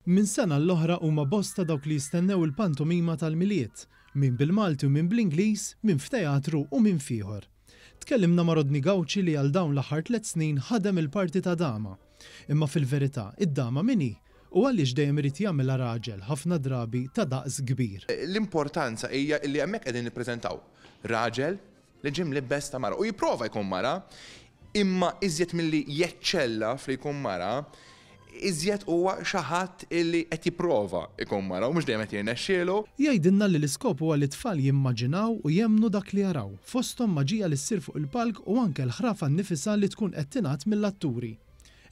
Minn sena għall-oħra huma bosta dawk li jistennew il-pantomima tal-Milied, min bil-Malti u min bl-Ingliż, min f'teatru u min f'ieħor. Tkellimna ma' Rodney Gauci li għal dawn l-aħħar tlett snin ħadem il-parti ta' dama. Imma fil-verità, id-dama min hi? U għaliex dejjem irid jagħmilha raġel, ħafna drabi ta' daqs kbir? L-importanza hija li hemmhekk qegħdin nippreżentaw raġel li ġie mlibbes ta' mara u jipprova jkun mara, imma iżjed milli jeċċella f'li jkun mara, iżjed huwa xi ħadd illi qed jipprova jkun mara u mhux dejjem qed jirnexxielu. Jgħidilna li l-iskop huwa li t-tfal jimmaġinaw u jemmnu dak li jaraw, fosthom maġija li ssir fuq il-palk u anke l-ħrafa nnifisha li tkun qed tingħad mill-atturi.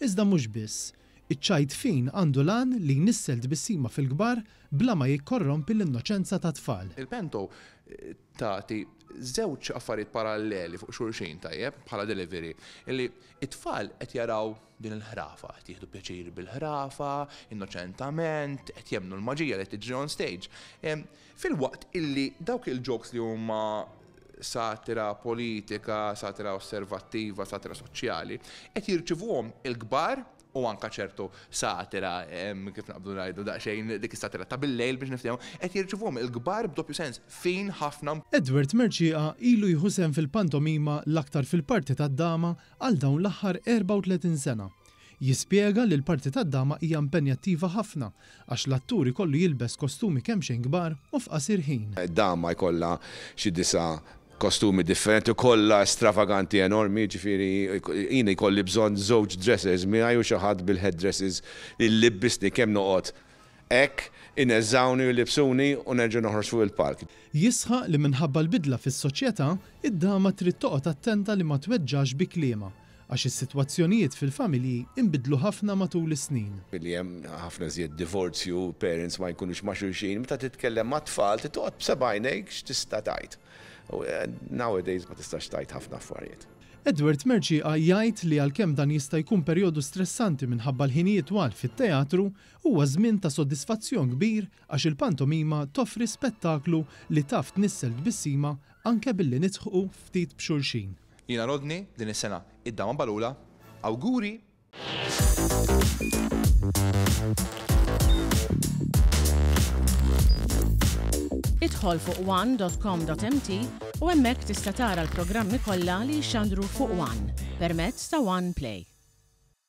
Iżda mhux biss. Iċ-ċajt fin għandu l-għan li jnissel tbissima fil-kbar bla ma jikkorrompi l-innoċenza tat-tfal. Il-panto tagħti żewġ affarijiet paralleli fuq xulxin tajjeb bħala delivery illi it-tfal qed jaraw din il-ħrafa, qed jieħdu pjaċir bil-ħrafa, innoċentament, qed jemmnu l-maġija li qed tiġri on stage. Filwaqt illi dawk il-jokes li huma satira politika, satira osservattiva, satira soċjali, qed jirċivuhom il-kbar u anke ċertu satira, kif naqbdu ngħidu daqsxejn dik is-satira ta' bil-lejl biex niftehmu, qed jirċivuhom il-kbar b'doppju sens fin ħafna. Edward Mercieca ilu jieħu sehem fil-pantomima l-aktar fil-parti tad-dama għal dawn l-aħħar 34 sena. Jispjega li l-parti tad-dama hija impenjattiva ħafna għax l-attur ikollu jilbes kostumi kemxejn kbar u f'qasir ħin. Dama jkollha xi disa' kostumi differenti kollha stravaganti enormi, jiġifieri jien jkolli bżonn żewġ dressers miegħi u xi ħadd bil-headdresses li jlibbisni kemm noqgħod hekk, ineżżgħuni u jlibbsuni u nerġa' noħroġ fuq il-palk. Jisħaq li minħabba l-bidla fis-soċjetà, id-dama trid toqgħod attenta li ma tweġġax bi kliemha, għax is-sitwazzjonijiet fil-familji nbidlu ħafna matul is-snin. Billi hemm ħafna iżjed divorzju, parents ma jkunux ma' xulxin, meta titkellem mat-tfal trid toqgħod b'seba' għajnejk x'tista' tgħid. U nowadays ma tistax tgħid ħafna affarijiet. Edward Mercieca jgħid li għalkemm dan jista' jkun perjodu stressanti minħabba l-ħinijiet twal fit-teatru, huwa żmien ta' sodisfazzjon kbir għax il-pantomima toffri spettaklu li taf tnissel tbissima anke billi nidħqu ftit b'xulxin. Jiena Rodney, din is-sena id-dama Balula. Awguri! Idħol fuq one.com.mt u hemmhekk tista' tara l-programmi kollha li jixxandru fuq One permezz ta' One Play.